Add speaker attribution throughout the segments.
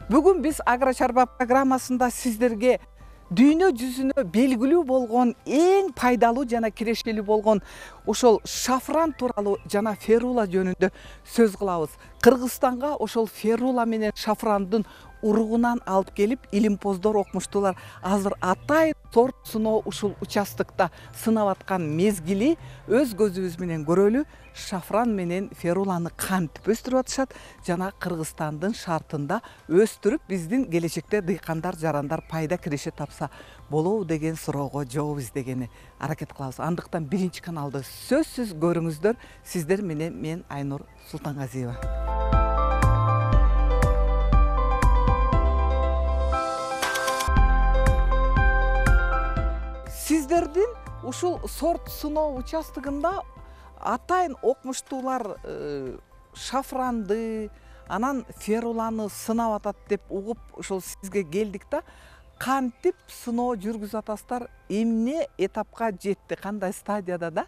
Speaker 1: Бүгүн биз Агро чарба программасында сиздерге дүйнө жүзүнө белгилүү болгон эң пайдалуу жана кирешелүү болгон ошол шафран тууралуу жана ферула жөнүндө сөз кылабыз. Кыргызстанга ошол ферула менен шафрандын уругунан алып келип, илимпоздор, окумуштуулар азыр атайын сорт сыноо ушул участокто сынап аткан мезгили өз көзүбүз менен көрөлү. Шафран менен феруланы кантип өстүрүп атышат жана Кыргызстандын шартында өстүрүп биздин келечекте дыйкандар, жарандар пайда киреше тапса болобу деген суроого жооп издегени аракет кылабыз. Андыктан биринчи каналды сөзсүз көрүңүздөр. Сиздер менен мен Айнур Султангазиева. Сиздердин ушул сорт сыноо участогунда атайын окумуштуулар шафранды, анан феруланы сынап атат деп угуп ошол сизге келдик да. Кантип сыноо жүргүзүп атасыздар? Эмне этапка жетти? Кандай стадияда да?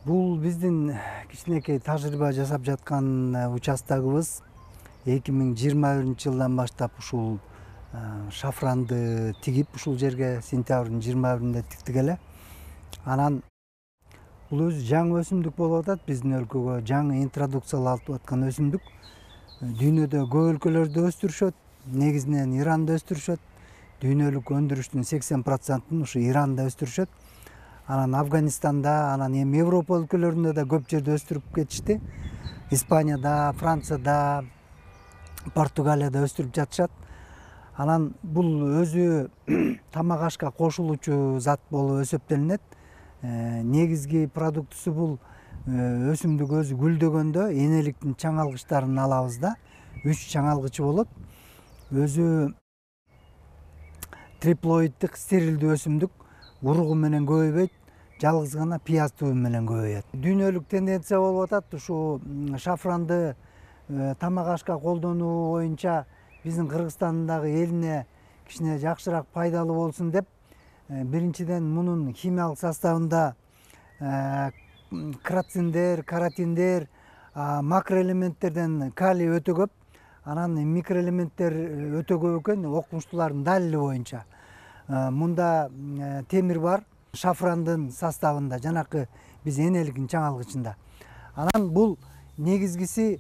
Speaker 2: Бул биздин кичинекей тажрыйба жасап жаткан участогубуз 2021-жылдан баштап ушул шафранды тигип ушул жерге сентябрдын 21-inde тиктик эле. Анан бул өзү жаңы өсүмдүк болуп атат. Биздин өлкөгө жаңы интродукцияланып аткан өсүмдүк. Дүйнөдө көп өлкөлөрдө өстүрүшөт, негизинен Иранда өстүрүшөт. Дүйнөлүк өндүрүштүн 80%-ын ушу Иранда өстүрүшөт. Анан Афганистанда, анан эми Европа өлкөлөрүндө да көп жерде өстүрүп кетишти. Испанияда, Францияда, Португалияда өстүрүп жатышат. Анан бул өзү тамак ашка кошулуучу зат болуп эсептелинет. Негизги продуктусу бул өсүмдүк өзү гүлдөгөндө энеликтин чаңалгычтарын алабыз да. 3 чаңалгычы болот. Өзү триплоиддик стерилдүү өсүмдүк, уругу менен көбөйбөйт, жалгыз гана пияз тубу менен көбөйөт. Дүйнөлүк тенденция болуп атат ушу шафранды тамак ашка колдонуу боюнча биздин Кыргызстандагы элине кичине жакшыраак пайдалуу болсун деп, биринчиден мунун химиялык составында крациндер, каротиндер, макроэлементтерден калий өтө көп, анан микроэлементтер өтө көп экен окумуштуулардын далили боюнча. Мунда темир бар шафрандын составында, жанакы биз энеликтин чаңалгычында. Анан бул негизгиси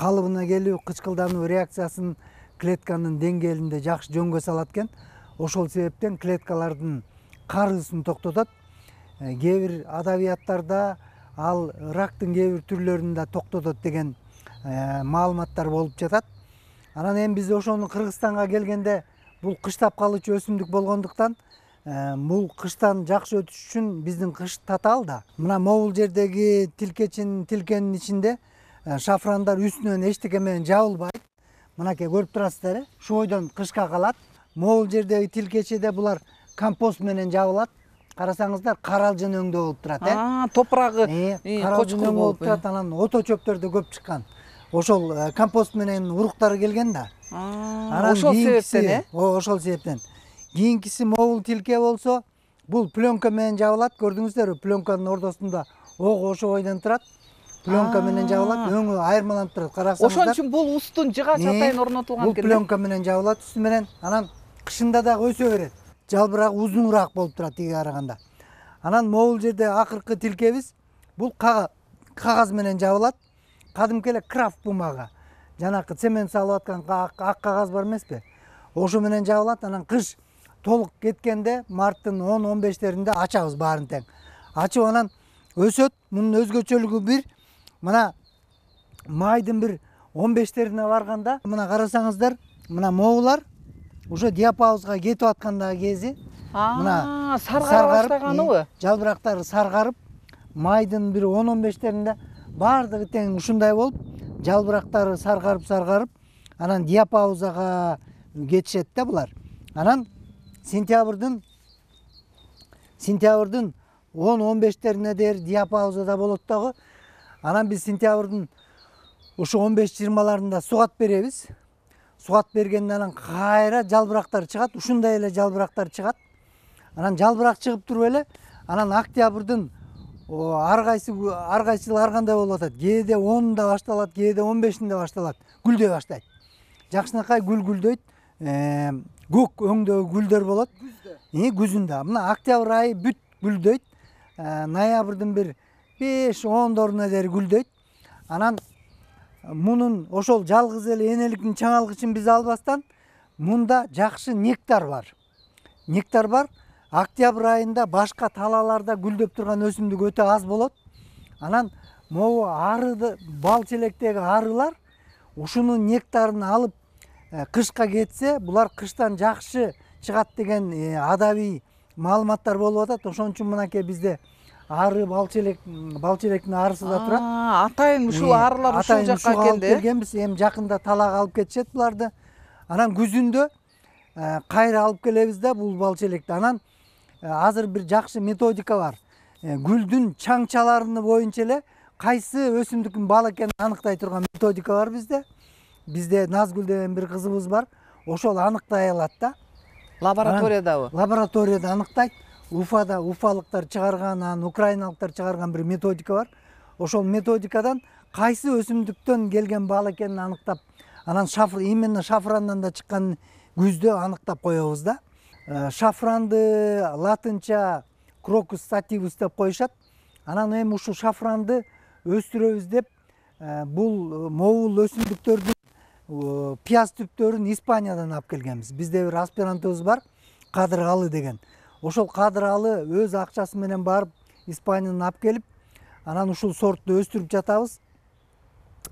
Speaker 2: калыбына келүү, кычкылдануу реакциясын клетканын деңгээлинде жакшы жөнгө салат экен. Ошол себептен клеткалардын карыысын токтотот. Кээ бир адабияттарда ал рактын кээ бир түрлөрүн да токтотот деген маалыматтар болуп жатат. Анан эми биз ошону Кыргызстанга келгенде бул кыштап калуучу өсүмдүк болгондуктан бул кыштан жакшы өтүш үчүн биздин кыш татаал да. Мына могул жердеги тилкенин ичинде шафрандар үстүнөн эчтеке менен жабылбайт. Мынакей көрүп турасыздар, ушу бойдон кышка калат. Могул жердеги тилкечеде булар компост менен жабылат. Карасаңыздар, каралжын өңдө болуп турат,
Speaker 1: топурагы
Speaker 2: каралжын болуп турат, анан ото чөптөр да көп чыккан. Ошол компост менен уруктары келген да.
Speaker 1: Ошол себептен,
Speaker 2: ошол себептен. Кийинкиси могул тилке болсо, бул пленка менен жабылат. Көрдүңүздөрбү, пленканын ортосунда ого ошо бойдон турат. Пленка менен жабылат, өңү айырмаланып турат. Карасаңыздар.
Speaker 1: Ошон үчүн бул устун жыгач атайын орнотулган
Speaker 2: экен. Бул пленка менен жабылат үстү менен, анан кышында дагы өсө берет. Жалбырагы узунураак болуп турат тиге караганда. Анан могул жерде акыркы тилкебиз бул кагаз менен жабылат. Кадимки эле крафт бумага. Жанакы цемент салып аткан ак кагаз бар эмеспи? Ошо менен жабылат. Анан кыш толук кеткенде марттын 10-15-леринде ачабыз баарын тең. Ачып анан өсөт. Мунун өзгөчөлүгү бир, мына майдын бир 15-лерине барганда, мына карасаңыздар, мына могулар уже диапаузга кетип аткандагы кези.
Speaker 1: Мына саргара баштаганыбы?
Speaker 2: Жалбырактары саргарып, майдын бир 10-15-леринде баардыгы тең ушундай болуп, жалбырактары саргарып, анан диапаузага кетишет да булар. Анан сентябрдын 10-15-лерине дейин диапаузада болот дагы. Анан биз сентябрдын ушу 15-20-ларында сугат беребиз. Сугат бергенде анан кайра жалбырактар чыгат, ушундай эле жалбырактар чыгат. Анан жалбырак чыгып туруп эле, анан октябрдын ар кайсы жыл ар кандай болуп атат. Кээде 10-да башталат, кээде 15-инде башталат. Гүлдөй баштайт. Жакшынакай гүлдөйт. Көк өңдөгү гүлдөр болот. Күзүндө. Мына октябрь айы бүт гүлдөйт. Ноябрдын бир 5-10 дери гүлдөйт. Анан мунун ошол жалгыз эле энеликтин чаңалгычын биз албастан мунда жакшы нектар бар. Нектар бар. Октябрь айында башка талааларда гүлдөп турган өсүмдүк өтө аз болот. Анан могу арыды, бал челектеги арылар ушунун нектарын алып кышка кетсе, булар кыштан жакшы чыгат деген адабий маалыматтар болуп атат. Ошон үчүн мынакей бизде ары бал челектин арысы да турат.
Speaker 1: Атайын ушул арылар ушул жакка
Speaker 2: келгенбиз. Эми жакында талаага алып кетишет буларды. Анан күзүндө кайра алып келебиз да бул бал челекти. Анан азыр бир жакшы методика бар. Гүлдүн чаңчаларыны боюнча эле кайсы өсүмдүктүн бал экенин аныктай турган методика бар bizde. Bizde Назгүл деген бир кызыбыз бар. Ошол аныктай алат да.
Speaker 1: Лабораториядабы?
Speaker 2: Лабораторияда аныктайт. Уфада уфалыктар чыгарган, анан украиналыктар чыгарган бир методика бар. Ошол методикадан кайсы өсүмдүктөн келген бал экенин аныктап, анан именно шафрандан да чыккан күздө аныктап коебуз да. Шафранды латынча Crocus sativus деп коюшат. Анан эми ушул шафранды өстүрөбүз деп бул моул өсүмдүктөрдүн пияз түптөрүн Испаниядан алып келгенбиз. Бизде бир аспирантыбыз бар, Кадыр Алы деген. Ошол Кадыр Алы өз акчасы менен барып Испаниядан алып келип, анан ушул сортту өстүрүп жатабыз.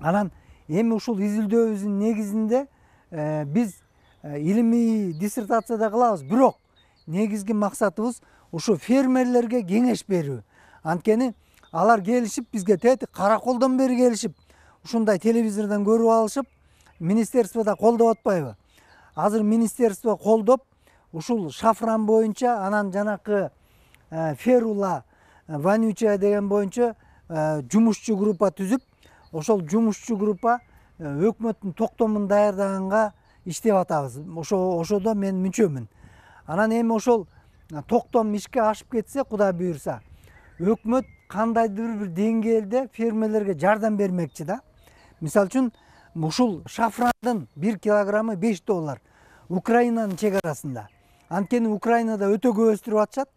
Speaker 2: Анан эми ушул изилдөөбүздүн негизинде биз илимий диссертацияда кылабыз. Бирок негизги максатыбыз ушу фермерлерге кеңеш берүү. Анткени алар келишип бизге караколдон бери келишип, ушундай телевизордон көрүп алышып, министерствода колдоп атпайбы? Азыр министерство колдоп, ушул шафран боюнча, анан жанакы ферула вонючая деген боюнча жумушчу группа түзүп, ошол жумушчу группа өкмөттүн токтомун даярдаганга иштеп атабыз. Ошодо мен мүчөмүн. Анан эми ошол токтом ишке ашып кетсе, Кудай буйрса, өкмөт кандайдыр бир деңгээлде фермерлерге жардам бермекчи да. Мисалы үчүн, ушул шафрандын 1 килограммы $5. Украинанын чегарасында. Анткени Украинада өтө көп өстүрүп атышат.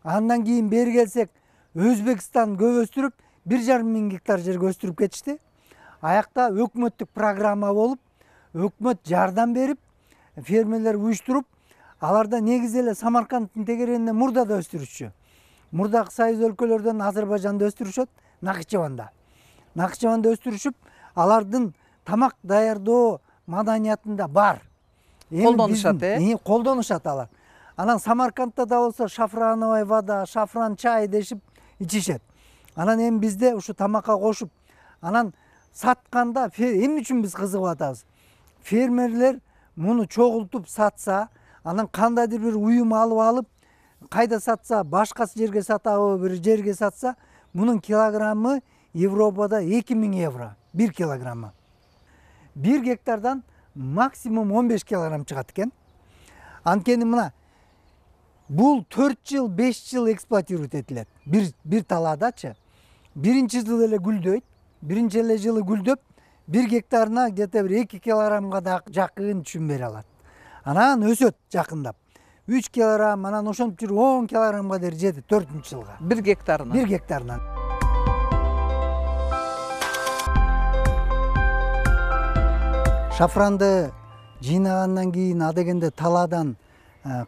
Speaker 2: Андан кийин бери келсек, Өзбекстан көп өстүрүп, 1,5 миң гектар жерге өстүрүп кетишти. Аякта өкмөттүк программа болуп, өкмөт жардам берип, фермерлер уюштуруп, аларда негизи эле Самаркандтын тегерегинде мурдада өстүрүшчү. Мурдагы союз өлкөлөрдөн Азербайжанда өстүрүшөт, Накычеванда. Накычеванда өстүрүшүп, алардын тамак даярдоо маданиятында бар.
Speaker 1: Колдонушат,
Speaker 2: колдонушат алар. Анан Самаркандта да болсо шафрановый вода, шафран чай дешип ичишет. Анан эми бизде ушу тамакка кошуп, анан сатканда эмне үчүн биз кызыгып атабыз? Фермерлер муну чогултуп сатса, анан кандайдыр бир уюм алып, кайда сатса, башка жерге сатабы, бир жерге сатса, мунун килограммы Европада €2000, 1 килограммы. 1 гектардан максимум 15 килограмм чыгат экен. Анткени мына бул 4 жыл, 5 жыл эксплуатировать этилет. Бир талаадачы. Биринчи жыл эле гүлдөйт. Биринчи эле жылы гүлдөп, 1 гектарына где-то бир 2 килограммга да жакын түшүм бере алат. Анан өсөт жакындап. 3 килограмм, анан ошентип жүрүп 10 килограммга дери жетет 4-жылга.
Speaker 1: 1 гектарына.
Speaker 2: 1 гектарынан. Шафранды жыйнагандан кийин адегенде талаадан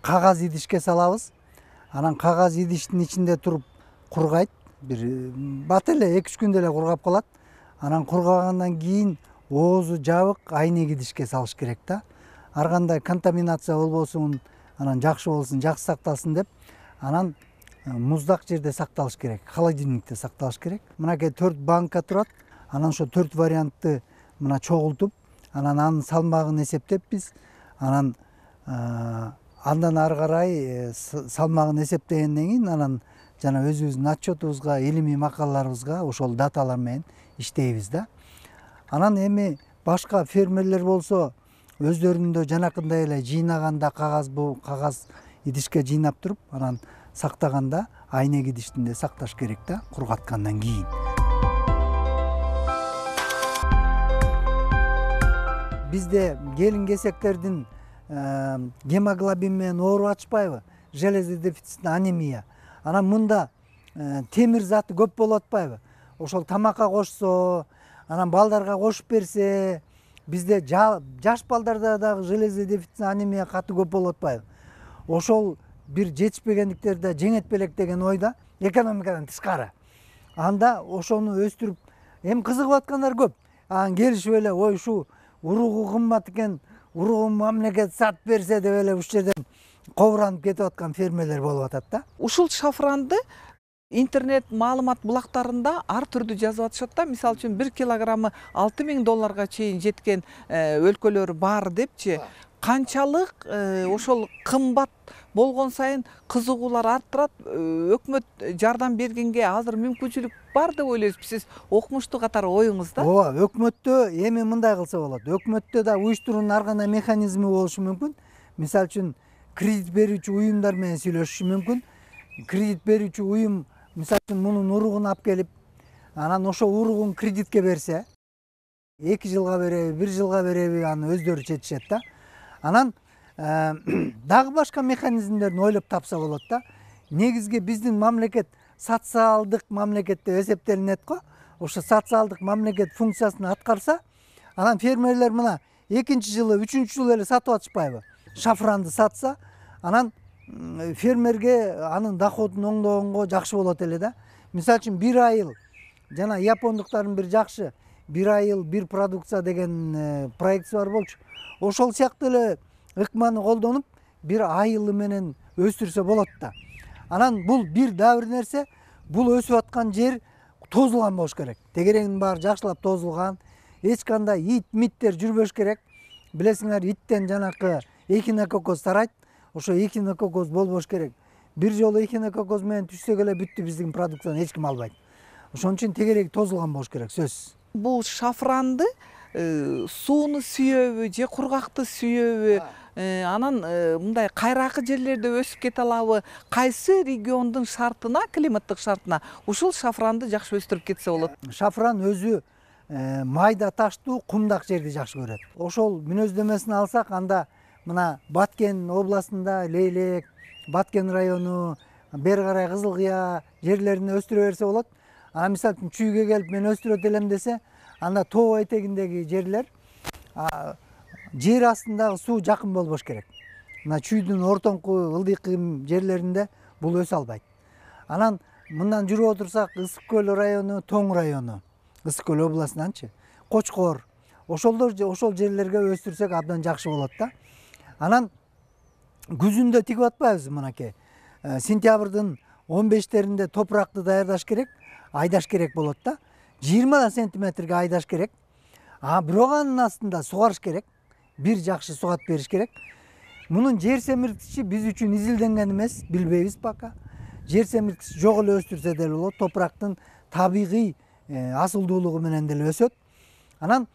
Speaker 2: кагаз идишке салабыз. Анан кагаз идиштин ичинде туруп кургайт. Бир бат эле 2-3 күндө эле кургап калат. Анан кургагандан кийин оозу жабык айнек идишке салыш керек да. Ар кандай контаминация болбосун, анан жакшы болсун, жакшы сакталсын деп, анан муздак жерде сакталыш керек, холодильникте сакталыш керек. Мынакей 4 банка турат. Анан ошо 4 вариантты мына чогултуп, анан анын салмагын эсептеп биз, анан андан ары карай салмагын эсептегенден кийин анан жана өзүбүздүн отчетубузга, илимий макалаларыбызга ошол даталар менен иштейбиз да. Анан эми башка фермерлер болсо өздөрүндө жанакындай эле жыйнаганда кагаз идишке жыйнап туруп, анан сактаганда айнек идиштинде сакташ керек да, кургаткандан кийин. Бизде келин кесектердин гемоглобин менен ооруп атышпайбы? Железо дефицитный анемия. Анан мында темир заты көп болуп атпайбы? Ошол тамакка кошсо, анан балдарга кошуп берсе, бизде жаш балдарда дагы железо дефицитный анемия катуу көп болуп атпайбы? Ошол бир жетишпегендиктерди жеңет белек деген ойда, экономикадан тышкары. Анда ошону өстүрүп, эми кызыгып аткандар көп. Анан келишип эле, ой ушу уругу кымбат экен, уругун мамлекет сатып берсе деп эле ушул жерден кобуранып кетип аткан фермерлер болуп атат да.
Speaker 1: Ушул шафранды интернет маалымат булактарында ар түрдүү жазып атышат да. Мисалы үчүн 1 килограммы $6.000 чейин жеткен өлкөлөр бар депчи. Канчалык ошол кымбат болгон сайын кызыгуулар арттырат, өкмөт жардам бергенге азыр мүмкүнчүлүк бар деп ойлойсузбу сиз окумуштуу катары оюңузда?
Speaker 2: Ооба, өкмөттө эми мындай кылса болот. Өкмөттө да уюштуруунун ар кандай механизми болушу мүмкүн. Мисалы үчүн кредит берүүчү уюмдар менен сүйлөшүшү мүмкүн. Кредит берүүчү уюм мисалы үчүн мунун уругун алып келип, анан ошо уругун кредитке берсе, 2 жылга береби, 1 жылга береби, аны өздөрү чечишет да. Анан дагы башка механизмдерин ойлоп тапса болот да. Негизги биздин мамлекет социалдык мамлекет деп эсептелинет го. Ошо социалдык мамлекет функциясын аткарса, анан фермерлер мына 2-чи жылы, 3-чү жылы эле сатып атышпайбы? Шафранды сатса, анан фермерге анын доходун оңдогонго жакшы болот эле да. Мисалы үчүн 1 айыл, жана япондуктардын бир жакшы 1 айыл 1 продукция деген проектиси бар болчу. Ошол сыяктуу эле ыкманы колдонуп, 1 айылы менен өстүрсө болот да. Анан бул бир дагы бир нерсе, бул өсүп аткан жер тозулган болуш керек. Тегерегинин баары жакшылап тозулган, эч кандай ит-миттер жүрбөш керек. Билесиңер, иттен жанакы эхинококоз тарайт. Ошо эхинококоз болбош керек. Бир жолу эхинококоз менен түшсөк эле бүттү, биздин продукцияны эч ким албайт. Ошон үчүн тегереги тозулган болуш керек, сөзсүз.
Speaker 1: Бул шафранды сууну сүйөбү же кургакты сүйөбү, анан мындай кайракы жерлерде өсүп кете алабы? Кайсы региондун шартына, климаттык шартына ушул шафранды жакшы өстүрүп кетсе болот?
Speaker 2: Шафран өзү майда таштуу, кумдак жерди жакшы көрөт. Ошол мүнөздөмөсүн алсак, анда мына Баткен областында Лейлек, Баткен району, бери карай Кызылкыя жерлерин өстүрө берсе болот. Анан мисалы үчүн Чүйгө келип мен өстүрөт элем десе, анда тоо этегиндеги жерлер жер астындагы суу жакын болбош керек. Мына Чүйдүн ортоңку ылдый кыйм жерлеринде бул өсө албайт. Анан мындан жүрүп отурсак, Ысык көл району, Тоң району, Ысык көл областынанчы, Кочкор, ошол жерлерге өстүрсөк абдан жакшы болот да. Анан күзүндө тигип атпайбыз мынакей. Сентябрдын 15-теринде топуракты даярдаш керек, айдаш керек болот да. 20 сантиметрге айдаш керек. Бирок анын астында сугарыш керек. Бир жакшы сугат бериш керек. Мунун жер семирткичи биз үчүн изилденген эмес, билбейбиз пока. Жер семирткичи жок эле өстүрсө деле болот. Топурактын табигый асылдуулугу менен деле өсөт. Анан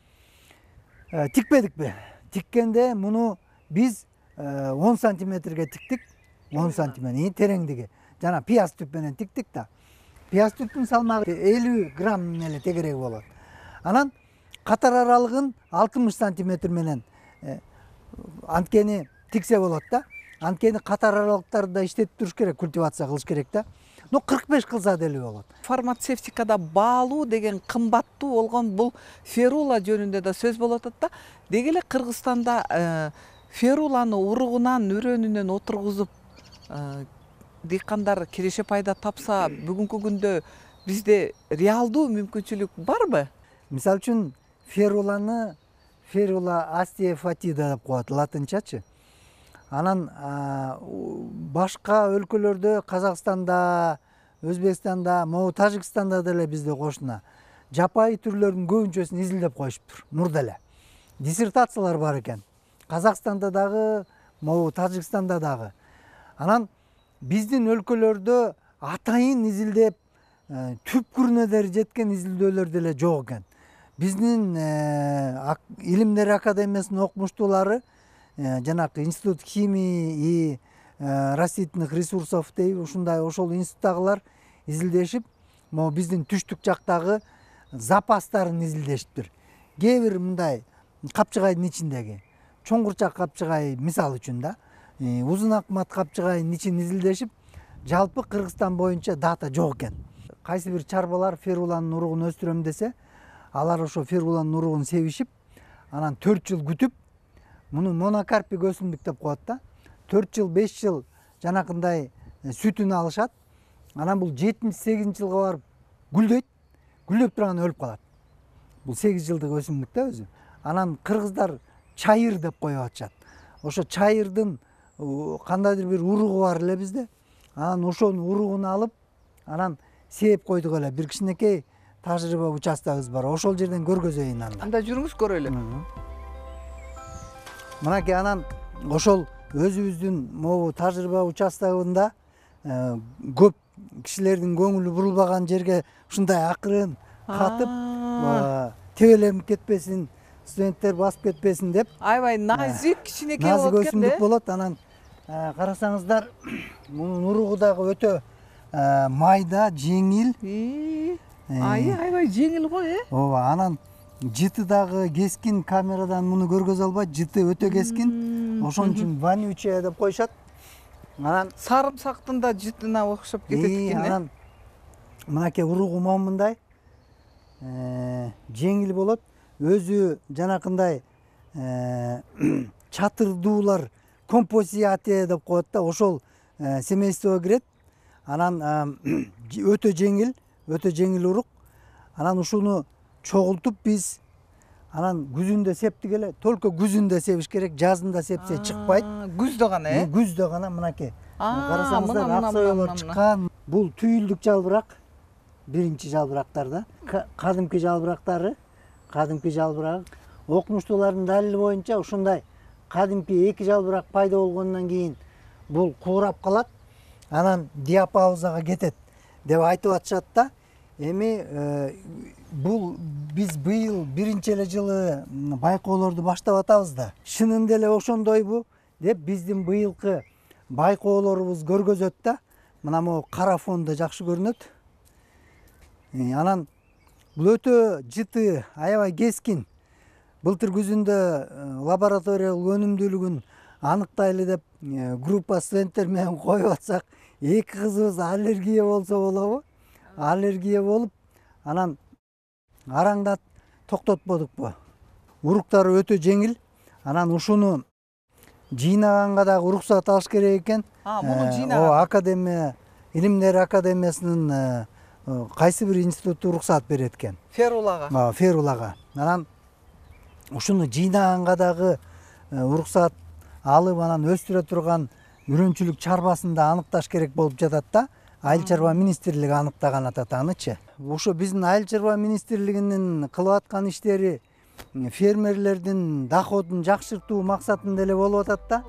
Speaker 2: тикпедикпи? Тиккенде муну биз 10 сантиметрге тиктик. 10 сантиметр тереңдиги. Жана пияз түп менен тиктик да. Пияз түптүн салмагы 50 грамм эле тегереги болот. Анан катар аралыгын 60 сантиметр менен анткени тиксе болот да. Анткени катар аралыктарды да иштетип туруш керек, культивация кылыш керек да. 45 кылса деле болот.
Speaker 1: Фармацевтикада баалуу деген кымбаттуу болгон бул ферула жөнүндө да сөз болуп атат да. Деги эле Кыргызстанда феруланы уругунан, үрөнүнөн отургузуп дыйкандар киреше пайда тапса, бүгүнкү күндө бизде реалдуу мүмкүнчүлүк барбы?
Speaker 2: Мисалы үчүн ферула астеофатида деп коет латынчачы. Анан башка өлкөлөрдө, Казакстанда, Өзбекстанда, могу Тажикстанда деле бизде кошуна жапайы түрлөрдүн көбүнчөсүн изилдеп коюшуптур. Мурда эле диссертациялар бар экен. Казакстанда дагы, могу Тажикстанда дагы. Анан биздин өлкөлөрдө атайын изилдеп, түпкүрүнө жеткен изилдөөлөр деле жок экен. Биздин Илимдер академиясынын окумуштуулары, жанакы Институт химии и растительных ресурсов дейбиз, ушундай ошол институттагылар изилдешип, могу биздин түштүк жактагы запастарын изилдешиптир. Кээ бир мындай капчыгайдын ичиндеги чоңгурчак капчыгай мисал үчүн да, узун акмат капчыгайдын ичин изилдешип, жалпы Кыргызстан боюнча дата жок экен. Кайсы бир чарбалар феруланын уругун өстүрөм десе, алар ошо феруланын уругун себишип, анан 4 жыл күтүп, муну монокарпик өсүмдүк деп коет да. 4 жыл, 5 жыл жанакындай сүтүн алышат. Анан бул 78-жылга барып гүлдөйт. Гүлдөп турган өлүп калат. Бул 8 жылдык өсүмдүк да өзү. Анан кыргыздар чайыр деп коюп атышат. Ошо чайырдын кандайдыр бир уругу бар эле бизде. Анан ошонун уругун алып, анан сээп койдук эле. Бир кичинекей тажрыйба участогубуз бар. Ошол жерден көргөзөйүн анда.
Speaker 1: Анда жүрүңүз көрөлү.
Speaker 2: Мынакей анан ошол өзүбүздүн могу тажрыйба участогунда көп кишилердин көңүлү бурулбаган жерге ушундай акырын катып, тебеленип кетпесин, студенттер басып кетпесин деп.
Speaker 1: Аябай назик кичинекей
Speaker 2: болот.
Speaker 1: болот
Speaker 2: Назик өсүмдүк болот. Анан карасаңыздар, мунун уругу дагы өтө майда, жеңил.
Speaker 1: Аябай жеңил го,
Speaker 2: Ооба, анан жыты дагы кескин, камерадан муну көргөзө албайт, жыты өтө кескин. Ошон үчүн вонючая деп коюшат. Анан
Speaker 1: сарымсактын да жытына окшоп кетет экен.
Speaker 2: Анан мынакей уругу момундай жеңил болот. Өзү жанакындай чатырдуулар, композиатия деп коет да, ошол семействого кирет. Анан өтө жеңил урук. Анан ушуну чогултуп биз анан күзүндө септик эле. Только күзүндө себиш керек, жазында сепсе чыкпайт.
Speaker 1: Күздө гана,
Speaker 2: Күздө гана мынакей. Карасаңыздар, ак соёлор чыккан. Бул түйүлдүк жалбырак, биринчи жалбырактарда. Кадимки жалбырактары, кадимки жалбырак. Окумуштуулардын далили боюнча ушундай кадимки 2 жалбырак пайда болгондон кийин бул куурап калат, анан диапаузага кетет деп айтып атышат да. Эми бул биз быйыл биринчи эле жылы байкоолорду баштап атабыз да. Чынында эле ошондойбу деп биздин быйылкы байкоолорубуз көргөзөт да. Мына могу кара фондо жакшы көрүнөт. Анан бул өтө жыты, аябай кескин. Былтыр күзүндө лабораториялык өнүмдүүлүгүн аныктайлы деп группа студенттер менен коюп атсак, 2 кызыбыз аллергия болсо болобу? Аллергия болуп, анан араңдат токтотподукпу. Уруктары өтө жеңил. Анан ушуну жыйнаганга дагы уруксат алыш керек экен.
Speaker 1: Муну жыйнаган.
Speaker 2: Академия, Илимдер академиясынын кайсы бир институту уруксат берет экен.
Speaker 1: Ферулага.
Speaker 2: Ферулага. Анан ушуну жыйнаганга дагы уруксат алып, анан өстүрө турган үрөнчүлүк чарбасын да аныкташ керек болуп жатат да. Айыл чарба министрлиги аныктаган атат анычы. Ошо биздин айыл чарба министрлигинин кылып аткан иштери фермерлердин доходун жакшыртуу максатында эле болуп атат да.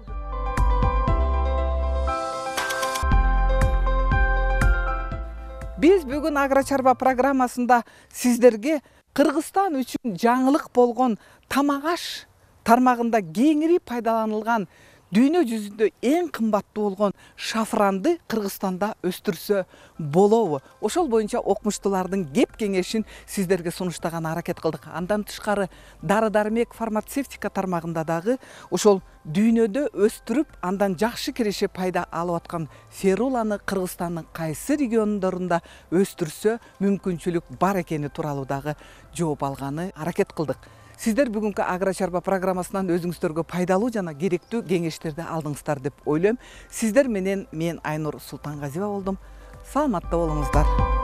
Speaker 1: Биз бүгүн Агро чарба программасында сиздерге Кыргызстан үчүн жаңылык болгон тамак-аш тармагында кеңири пайдаланылган дүйнө жүзүндө эң кымбаттуу болгон шафранды Кыргызстанда өстүрсө болобу? Ошол боюнча окумуштуулардын кеп кеңешин сиздерге сунуштаганга аракет кылдык. Андан тышкары дары-дармек фармацевтика тармагында дагы ошол дүйнөдө өстүрүп, андан жакшы киреше пайда алып аткан феруланы Кыргызстандын кайсы региондорунда өстүрсө мүмкүнчүлүк бар экени тууралуу дагы жооп алганы аракет кылдык. Сиздер бүгүнкү Агро чарба программасынан өзүңүздөргө пайдалуу жана керектүү кеңештерди алдыңыздар деп ойлойм. Сиздер менен мен Айнур Султангазиева болдум. Саламатта болуңуздар.